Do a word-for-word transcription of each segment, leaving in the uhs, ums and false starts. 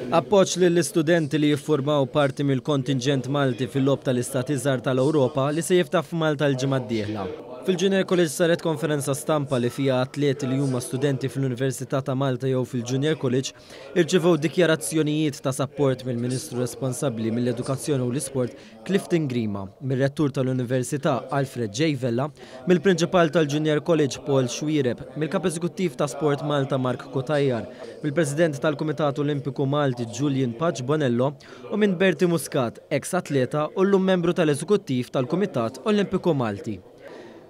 Appoġġ lill-istudenti li jiffurmaw parti mill-kontingent Malti fil-Logħob tal-Istati Żgħar tal-Ewropa li se jiftaħ f'Malta l-ġimgħa d-dieħla. Fil-Junior College saret konferenza stampa li fiha atleti li huma studenti fl-Università ta' Malta jew fil-Junior College irċevew dikjarazzjonijiet ta' sapport mill-Ministru responsabbli mill-Edukazzjoni u l-Isport Clifton Grima, mir-Rettur tal-Università Alfred J. Vella, mill-Prinċipal tal-Junior College Paul Xuereb, mill-Kap Eżekuttiv ta' Sport Malta Mark Cutajar, mill-President tal-Kumitat Olimpiku Malti Julian Pace Bonello u minn Bertie Muscat, ex-atleta u llum membru tal-Eżekuttiv tal-Kumitat Olimpiku Malti.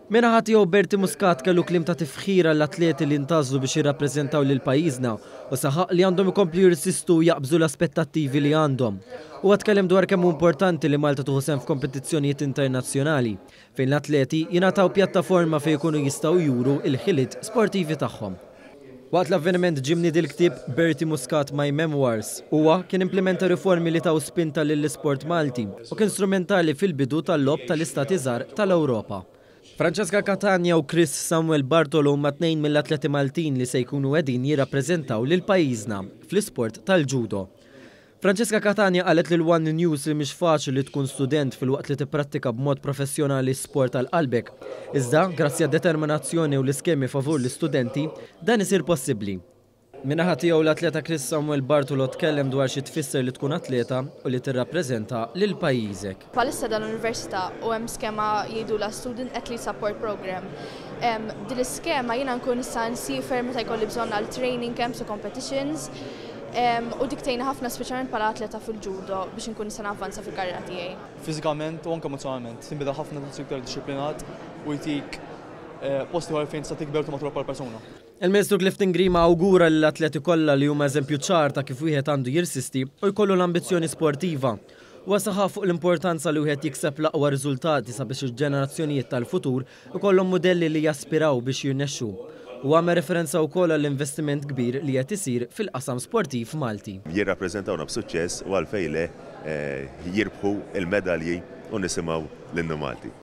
Min-naħa tiegħu Bertie Muscat kellu kliem ta' tifħir għall-atleti li ntgħażlu biex jirrappreżentaw lil pajjiżna u saħaq li għandhom ikomplu jirsistu u jaqbżu l-aspettattivi li għandhom. Huwa tkellem dwar kemm hu importanti li Malta tieħu sehem f'kompetizzjonijiet internazzjonali fejn l-atleti jingħataw pjattaforma fejn jkunu jistgħu juru il-ħiliet sportivi tagħhom. Waqt l-avveniment ġie mniedi l-ktieb Bertie Muscat My Memoirs. Huwa kien implementa riformi li taw spinta lill-isport Malti u kien strumentali fil-bidu tal-Logħob tal-Istati Żgħar tal-Ewropa. Francesca Catania u Chris Samuel Bartolo huma tnejn mill-atleti Maltin li se jkunu qegħdin jirrappreżentaw lil pajjiżna fl-isport tal-judo. Francesca Catania qalet lil One News li mhix faċli li tkun student filwaqt li tipprattika b'mod professjonali sport għal qalbek. Iżda, grazzi għad-determinazzjoni u l-iskemi favur l-istudenti, dan isir possibbli. Min-naħa tiegħu l-atleta Chris Samuel Bartolo tkellem dwar xi tfisser li tkun atleta u li tirrappreżenta lil pajjiżek. Bħalissa dal-università u hemm skema jgħidulha Student Athlete Support Program. Din l-iskema jiena nkun nista' nsiefer meta jkolli bżonn għal training camps u competitions. U dik tgħinna ħafna, speċjalment bħala atleta fil-judo, biex nkun nista' navvanza fil-karriera tiegħi. Fiżikament u anke emozjonalment, tinbidel ħafna, tħossok iktar dixxiplinat u jtik post ieħor fejn tista' tikber u matura bħala persuna. Il-Ministru Clifton Grima awgura lill-atleti kollha li huma eżempju ċar ta' kif wieħed għandu jirsisti u jkollu l-ambizzjoni sportiva. Huwa saħaq fuq l-importanza li wieħed jikseb l-aqwa riżultati sabiex il-ġenerazzjonijiet tal-futur ikollhom modelli li jaspiraw biex jirnexxu. U għamel referenza wkoll għall-investiment kbir li qed isir fil-qasam sportiv Malti. Jirrappreżentawna b'suċċess u għalfejn le jirbħu il-medalji u nisimgħu l-innu Malti.